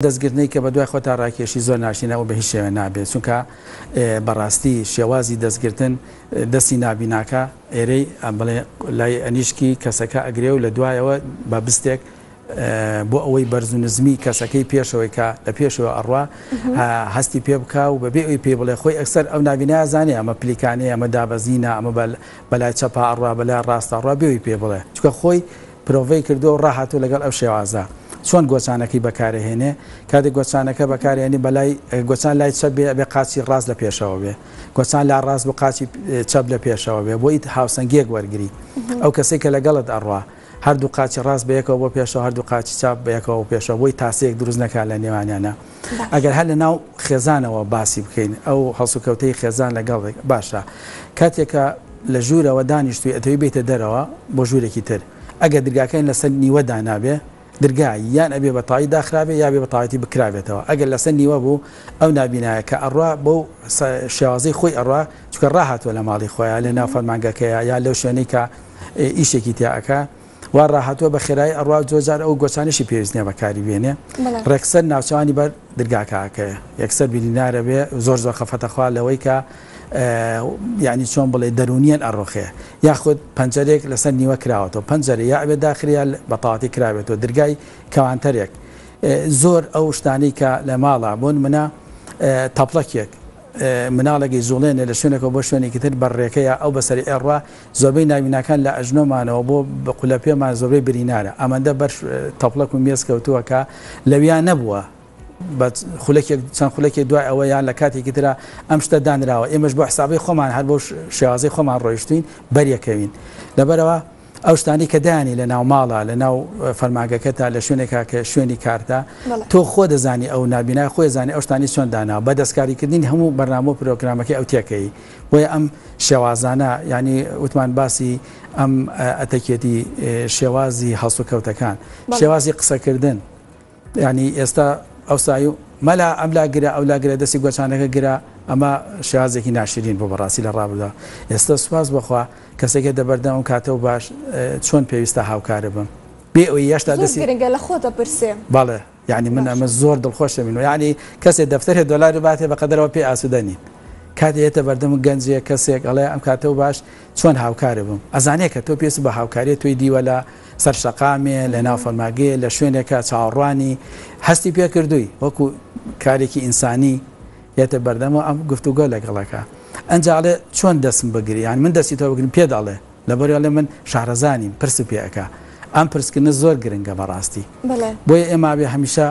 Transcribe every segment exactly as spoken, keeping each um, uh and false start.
دەستگرتنەی کە بە دوای خۆتا ڕاکێشی زۆر ناشینەوە بە هیچ شێوە نابێت، چونکە بەڕاستی شێوازی دەستگرتن دەستی نابیناکە ئێرەی بڵێ لای ئەنیشکی کەسەکە ئەگرێ و لە دوایەوە بە بستێک بۆ ئەوەی بەرز و نزمی کەسەکەی پێشەوەی کە لە پێشەوە ئەڕوا هەستی پێ بکا و بەبێ ئەوی پێ بڵێ خۆی ئەکسەر ئەو نابینایە زانێ ئەمە پلیکانەیە، ئەمە دابەزینە، ئەمە بەلای چەپا ئەڕوا بەلای ڕاستە ئەڕوا، بێ ئەوی پێ بڵێ، چونکە خۆی پرۆڤەی کردووە و ڕاهاتوو لەگەڵ ئەو شێوازە. چۆن گۆچانەکەی بەکارهێنێ؟ کاتێک گۆچانەکە بەکارهێنی بەلای گۆچان لای چەپ بێ ئەبێ قاچی ڕاست لە پێشەوە بێ، گۆچان لا ڕاست بۆ قاچی چەپ لە پێشەوە بێ، بۆ هاوسەنگیەک وەرگری. ئەو کەسێک کە لەگەڵت ئەڕوا هەردوو قاچی ڕاست بەیەکەوە بۆ پێشەوە، هەردوو قاچی چاپ بەیەکەوە بۆ پێشەوە، بۆی تاسەیەک دروست نەکات لە نێوانیانە. ئەگەر هەر لە ناو خێزانەوە باسی بکەین، ئەو هەڵسوکەوتەی خێزان لەگەڵ باشە، کاتێکە لە ژوورەوە دانیشتوی ئەتەوی بێتە دەرەوە بۆ ژوورێکی تر، ئەگەر درگاکەین لەسەر نیوە دانابێ، درگا یان ئەبێ بە تاوی داخرابێ یا بێ بە تاویەتی بکرابێتەوە. ئەگەر لەسەر نیوە بوو ئەو نابینایە کە ئەڕوا بۆ شێوازەی خۆی ئەڕوا، چونکە ڕاهاتووە لە ماڵی خۆیان لە ناو فەرمانگەکەیە یا لەو شوێنەی کە ئیشێکی تیا ئەکا، وا ڕاهاتووە بە خێرایی ئەڕوا، زۆر ئەو گۆچانیشی پێویست نییە بەکاری بێنێ، ڕێکسەر ناوچوانی بەر درگاکەکەیە، یەکسەر بینینارە بێ زۆر زۆر خەفەتەخوا لەوەی کە یعنی چۆن بڵێ دەرونیان ئەڕۆخێ، یاخود پەنجەرێک لەسەر نیوە کراوەتەوە، پەنجەرە یا ئەبێ داخریا بە تەواتی کراوێتەوە، درگای کەوانتەرێک، زۆر ئەو شتانەی کە لە ماڵە بۆن منە تەپڵەکێک مناڵێکی زوڵێنێ لە شوێنێکەوە بۆ شوێنێکی تر بەڕێکەیە ئەو بەسەری ئێڕوا، زۆربەی ناویناکان لە ئەژنۆمانەوە بۆ قولەپێمان زۆربەی برینارە، ئەمەندە بەر تەپڵەک و مێز کەوتووە کە لەویا نەبووە، خولەکێک چەند خولەکێک دوای ئەوە یان لە کاتێکی ترە ئەم شتە دانراوە، ئێمەش بۆ حسابی خۆمان هەر بۆ شێوازەی خۆمان ڕۆیشتوین بەریەکەوین. لەبەرەوە ئەو شتانی کە دانی لە ناو ماڵە، لە ناو فەرماگەکەتا، لە شوێنێکا کە شوێنی کارتە، تۆ خۆ دەزانی ئەو نابینای خۆی زانی ئەو شتانی چۆن داناوە، بە دەستکاریکردنی هەموو بەرنامە و پرۆگرامەکەی ئەو تێکەی. بۆیە ئەم شێوازانە، ینی وتمان باسی ئەم ئەتەکێتی شێوازی هەڵسوکەوتەکان، شێوازی قسەکردن، ینی ئێستا ئەو سای و مەلا ئەم لا گرە ئەو لا گرە دەستی گۆچانەکە گرە، ئەمە شێوازێکی ناشرین بۆ بەڕاستی لە ڕابدا. ئێستا سوپاس بەخوا کەسێکە دەبەردەم ئەم کاتەوە باش چۆن پێویستە هاوکارە بم بێ ئەوەی هێشتا دەستی گرنگە لە خۆ دەپرسێ. بەڵێ، یعنی من ئەمە زۆر دڵخۆشە من، یعنی کەسێ دەفتەرێ دۆلاری باتێ بەقەدەرەوە پێ ئاسوودە نین. کاتێ هێتە بەردەم گەنجێ کەسێک ئەڵێ ئەم کاتەوە باش چۆن هاوکارە بم، ئەزانێ کە تۆ پێست بە هاوکاریە تۆی دیوە لە سەر شەقامێ، لە ناو فەرماگەیە، لە شوێنێکە چاوەڕوانی هەستی پێکردووی وەکو کارێکی ئینسانی یێتە بەردەمەوە ئەم گفتوگۆ لەگەڵەکە. ئەنجا ئەڵێ چۆن دەستم بگری، یان من دەستی تۆ بگرم پێ دەڵێ، لەبەر ئەڵێ من شارەزانیم، پرس پێ ئەکا. ئەم پرسکردنە زۆر گرنگە بەڕاستی. بۆیە ئێمە بێ هەمیشە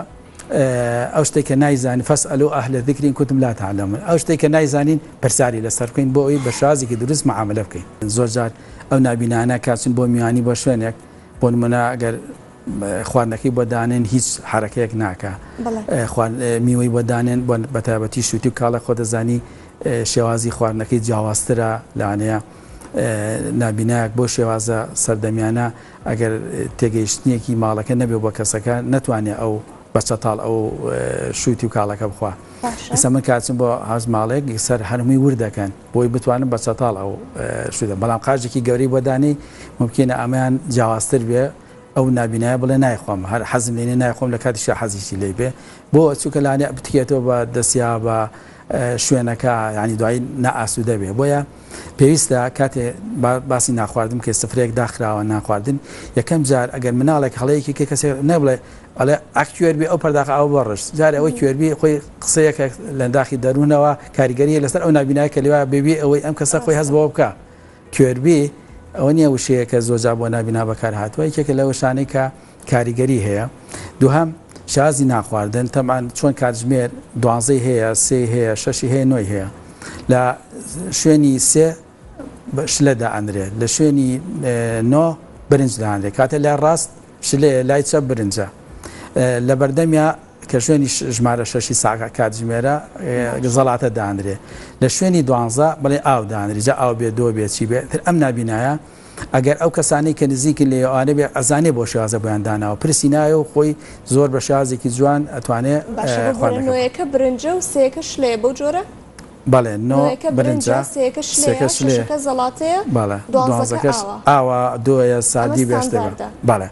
ئەو شتێک کە نایزانین فەسئەلو ئەهلە ذیکر ئین کونتم لا تعلمون، ئەو شتێک کە نایزانین پرسیاری لەسەر بکەین بۆ ئەوەی بە شێوازێکی دروست معاملە بکەین. زۆر جار ئەو نابینانە کاچن بۆ میوانی بۆ شوێنێک، بۆ نمونە ئەگەر خواردنەکەی بۆ دانێن هیچ حرەکەیەک ناکە، میوەی بۆ دانێن بە تایبەتی شووتی و کاڵە خۆ دەزانی شێوازی خواردنەکەی جیاوازترە، لەوانەیە نابینایەک بۆ شێوازە سەردەمیانە ئەگەر تێگەیشتنێکی ماڵەکە نەبێ بۆ کەسەکە نەتوانێت ئەو بە چەتاڵ ئەو شووتی و کاڵەکە بخوا. ئێستا من کاچم بۆ هاز ماڵێک سەر هەرمووی ورد دەکەن بۆی بتوانن بە چەتاڵ ئەو شوودە، بەڵام قاژێکی گەورەی بۆ دانی ممکنە ئەمەیان جیاوازتر بێ، ئەو نابینایە بڵێ نایخۆم، هەر حەزم لێ نییە نایخۆم، لە کاتیشا حەزیشی لێ بێ، بۆ چونکە لانێ بتکێتەوە بە دەستیا بە شوێنەکە، یعنی دوایی نائاسوودە بێ. بۆیە پێویستە کاتێ باسی ناخواردن کە سفرەیەک داخراوە ناخواردن، یەکەم جار ئەگەر مناڵێک هەڵەیەکی کە کەسێک نەبڵێ ئەڵێ ئەک کوێربی ئەو پەرداخە ئەو بەڕشت، جارێ ئەوەی کوێربی خۆی قسەیەکە لە داخی دەروونەوە کاریگەریە لەسەر ئەو نابینایە کە لێوایە بێبی ئەوەی ئەم کەسە خۆی هەست بەوە بکە. کوێربی ئەوە نییە وشەیە کە زۆر جار بۆ نابینا بەکار هاتووە، یەکێکە لە وشانەی کە کاریگەری هەیە. دووهەم شازی ناخواردن، تەمان چۆن کاتژمێر دوازدەی هەیە، سێ هەیە، شەشی هەیە، نۆی هەیە. لە شوێنی سێ شلە دائەنرێت، لە شوێنی نۆ برنج دائەنرێت، کاتێ لای ڕاست شلەیە، لای چەپ برنجە. لە بەردەمیا کە شوێنی ژمارە شەشی ساکە کاتژمێرە زەڵاتە دانرێ، لە شوێنی دوانزە بڵێ ئاو دانرێ، جا ئاو بێ دۆ بێ چی بێ. تر ئەم نابینایە ئەگەر ئەو کەسانەی کە نزیکن لێ ئەوانە بێ ئەزانێ بۆ شێوازە بۆیان داناوە، پرسی نایە و خۆی زۆر بە شێوازێکی جوان ئەتوانێ خواردنەکە. نۆیەکە برنجە و سێیەکە شلەیە بەو جۆرە؟ بەڵێ، نۆ برنجە، سێیەکە شلەیە، شەشەکە زەڵاتەیە، بەڵێ، دوانزەکەش ئاوە، دۆیە، سادی بێشتێکە. بەڵێ.